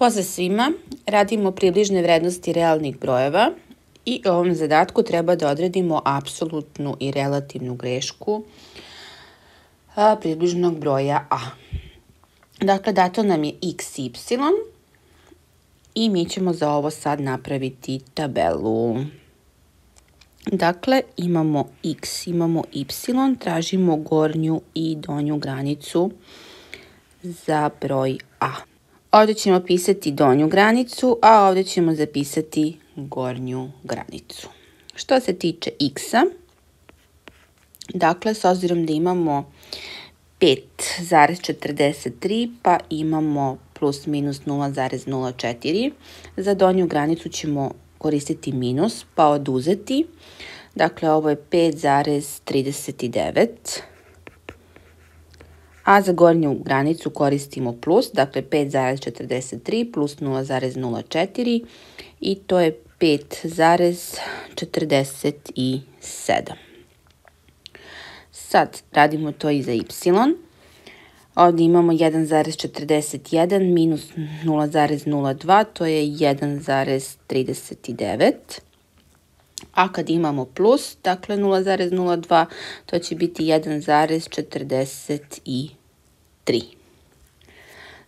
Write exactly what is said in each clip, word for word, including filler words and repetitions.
Pozdrav svima, radimo približne vrednosti realnih brojeva i u ovom zadatku treba da odredimo apsolutnu i relativnu grešku a, približnog broja a. Dakle, dato nam je x, y i mi ćemo za ovo sad napraviti tabelu. Dakle, imamo x, imamo y, tražimo gornju i donju granicu za broj a. Ovdje ćemo pisati donju granicu, a ovdje ćemo zapisati gornju granicu. Što se tiče x-a, dakle, s obzirom da imamo pet zarez četrdeset tri, pa imamo plus minus nula zarez nula četiri, za donju granicu ćemo koristiti minus, pa oduzeti. Dakle, ovo je pet zarez trideset devet. A za gornju granicu koristimo plus, dakle pet zarez četrdeset tri plus nula zarez nula četiri i to je pet zarez četrdeset sedam. Sad radimo to i za y. Ovdje imamo jedan zarez četrdeset jedan minus nula zarez nula dva, to je jedan zarez trideset devet. A kad imamo plus, dakle nula zarez nula dva, to će biti jedan zarez četrdeset tri.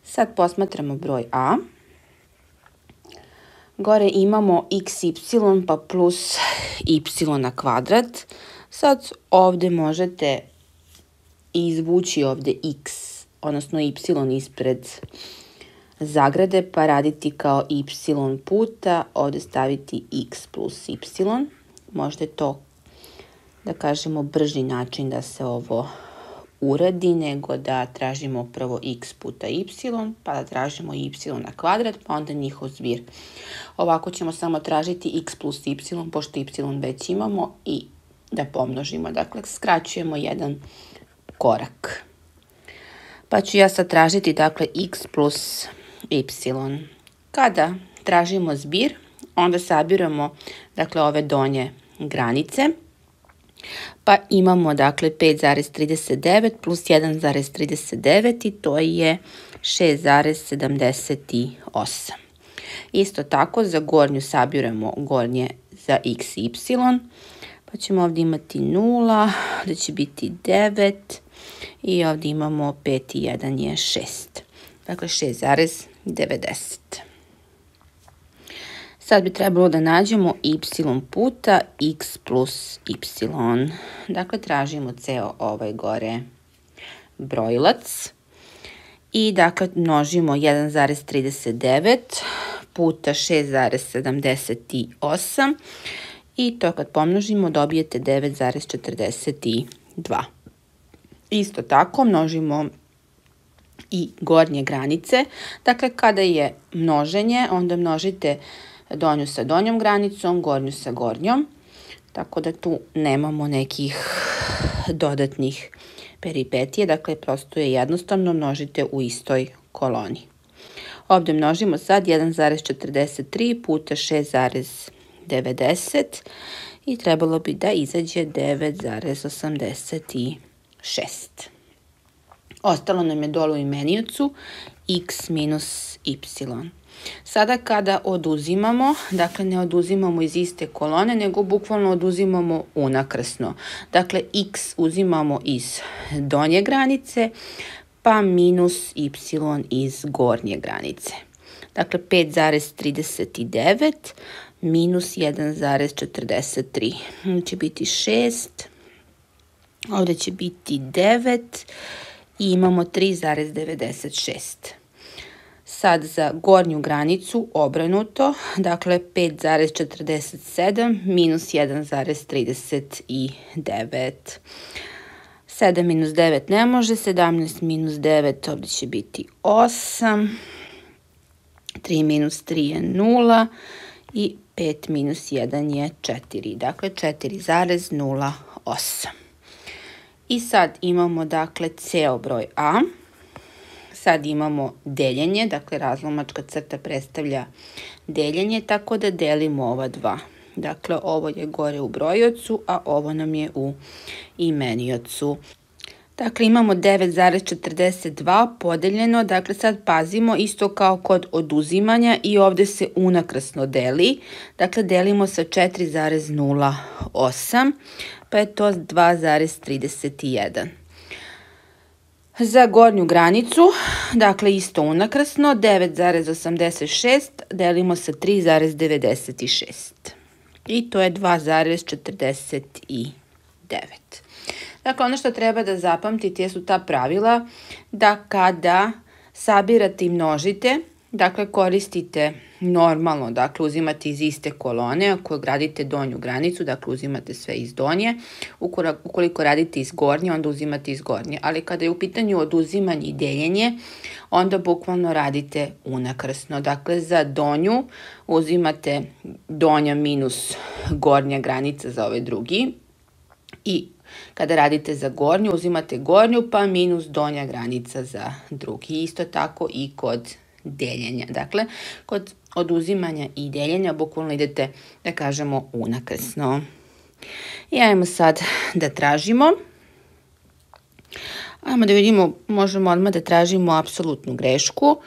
Sad posmatramo broj a. Gore imamo x, y pa plus y na kvadrat. Sad ovdje možete izvući ovdje x, odnosno y ispred zagrade, pa raditi kao y puta, ovdje staviti x plus y. Možda je to, da kažemo, brži način da se ovo uradi, nego da tražimo prvo x puta y, pa da tražimo y na kvadrat, pa onda njihov zbir. Ovako ćemo samo tražiti x plus y, pošto y već imamo, i da pomnožimo. Dakle, skraćujemo jedan korak. Pa ću ja sad tražiti, dakle, x plus y. Kada tražimo zbir, onda sabiramo, dakle, ove donje granice, pa imamo, dakle, pet zarez trideset devet plus jedan zarez trideset devet i to je šest zarez sedamdeset osam. Isto tako za gornju sabiramo gornje za x i y, pa ćemo ovdje imati nula, da će biti devet i ovdje imamo pet i jedan je šest. Dakle, šest zarez devedeset. Sad bi trebalo da nađemo y puta x plus y. Dakle, tražimo ceo ovaj gore brojilac. I dakle, množimo jedan zarez trideset devet puta šest zarez sedamdeset osam. I to kad pomnožimo dobijete devet zarez četrdeset dva. Isto tako množimo i gornje granice. Dakle, kada je množenje, onda množite donju sa donjom granicom, gornju sa gornjom. Tako da tu nemamo nekih dodatnih peripetije. Dakle, prosto je jednostavno, množite u istoj koloni. Ovdje množimo sad jedan zarez četrdeset tri puta šest zarez devedeset i trebalo bi da izađe devet zarez osamdeset šest. Ostalo nam je dole u imeniocu x minus y. Sada kada oduzimamo, dakle ne oduzimamo iz iste kolone, nego bukvalno oduzimamo unakrsno. Dakle, x uzimamo iz donje granice, pa minus y iz gornje granice. Dakle, pet zarez trideset devet minus jedan zarez četrdeset tri. Ovdje će biti šest, ovdje će biti devet i imamo tri zarez devedeset šest. Sad za gornju granicu obrnuto, dakle pet zarez četrdeset sedam minus jedan zarez trideset devet. sedam minus devet ne može, sedamnaest minus devet, ovdje će biti osam, tri minus tri je nula i pet minus jedan je četiri, dakle četiri zarez nula osam. I sad imamo, dakle, ceo broj a. Sad imamo deljenje, dakle razlomačka crta predstavlja deljenje, tako da delimo ova dva. Dakle, ovo je gore u brojiocu, a ovo nam je u imeniocu. Dakle, imamo devet zarez četrdeset dva podeljeno, dakle sad pazimo isto kao kod oduzimanja i ovdje se unakrasno deli, dakle delimo sa četiri zarez nula osam, pa je to dva zarez trideset jedan. Za gornju granicu, dakle isto unakrasno, devet zarez osamdeset šest delimo sa tri zarez devedeset šest i to je dva zarez četrdeset devet. Dakle, ono što treba da zapamtite jesu ta pravila da kada sabirate i množite, dakle koristite normalno, dakle uzimate iz iste kolone, ako gradite donju granicu, dakle uzimate sve iz donje, ukoliko radite iz gornje, onda uzimate iz gornje, ali kada je u pitanju oduzimanje i deljenje, onda bukvalno radite unakrsno, dakle za donju uzimate donja minus gornja granica za ovaj drugi i kada radite za gornju, uzimate gornju pa minus donja granica za drugi. Isto tako i kod deljenja. Dakle, kod oduzimanja i deljenja bukvalno idete, da kažemo, unakrsno. I ajmo sad da tražimo. Ajmo da vidimo, možemo odmah da tražimo apsolutnu grešku.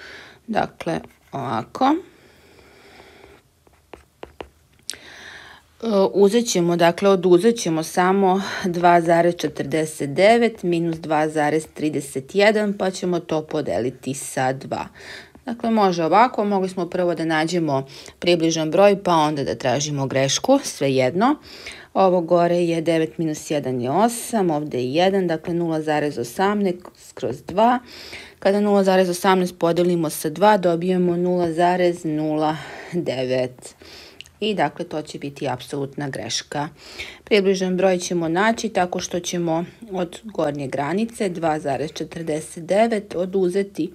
Dakle, ovako. Uzet ćemo, dakle oduzet ćemo samo dva zarez četrdeset devet minus dva zarez trideset jedan pa ćemo to podeliti sa dva. Dakle može ovako, mogli smo prvo da nađemo približan broj pa onda da tražimo grešku, svejedno. Ovo gore je devet minus jedan je osam, ovdje je jedan, dakle nula zarez osamnaest kroz dva. Kada nula zarez osamnaest podelimo sa dva dobijemo nula zarez nula devet. I dakle to će biti apsolutna greška. Približan broj ćemo naći tako što ćemo od gornje granice dva zarez četrdeset devet oduzeti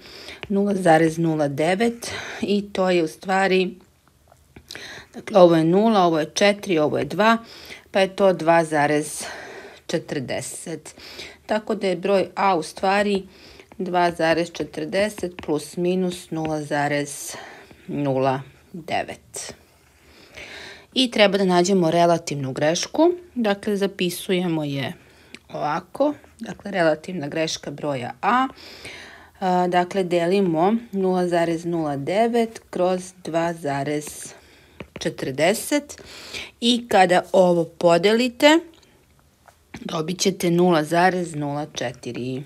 nula zarez nula devet i to je u stvari, dakle ovo je nula, ovo je četiri, ovo je dva, pa je to dva zarez četrdeset. Tako da je broj A u stvari dva zarez četrdeset plus minus nula zarez nula devet. I treba da nađemo relativnu grešku, dakle zapisujemo je ovako, dakle relativna greška broja A, dakle delimo nula zarez nula devet kroz dva zarez četrdeset i kada ovo podelite dobit ćete nula zarez nula četiri.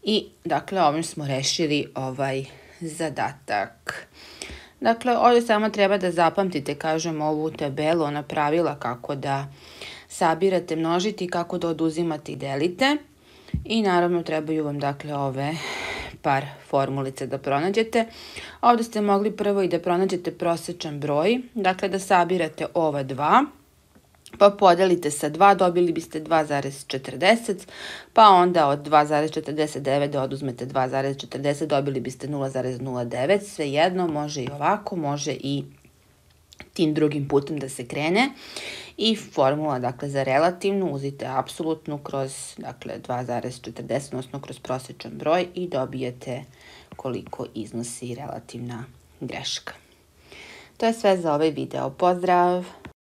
I dakle ovim smo rešili ovaj zadatak. Dakle, ovdje samo treba da zapamtite, kažem, ovu tabelu, ona pravila kako da sabirate, množite i kako da oduzimate i delite. I naravno trebaju vam, dakle, ove par formulice da pronađete. Ovdje ste mogli prvo i da pronađete prosječan broj, dakle da sabirate ova dva, pa podelite sa dva, dobili biste dva zarez četrdeset, pa onda od dva zarez četrdeset devet da oduzmete dva zarez četrdeset, dobili biste nula zarez nula devet, svejedno, može i ovako, može i tim drugim putem da se krene. I formula, dakle, za relativnu, uzite apsolutnu kroz, dakle, dva zarez četrdeset, odnosno kroz prosječan broj i dobijete koliko iznosi relativna greška. To je sve za ovaj video. Pozdrav!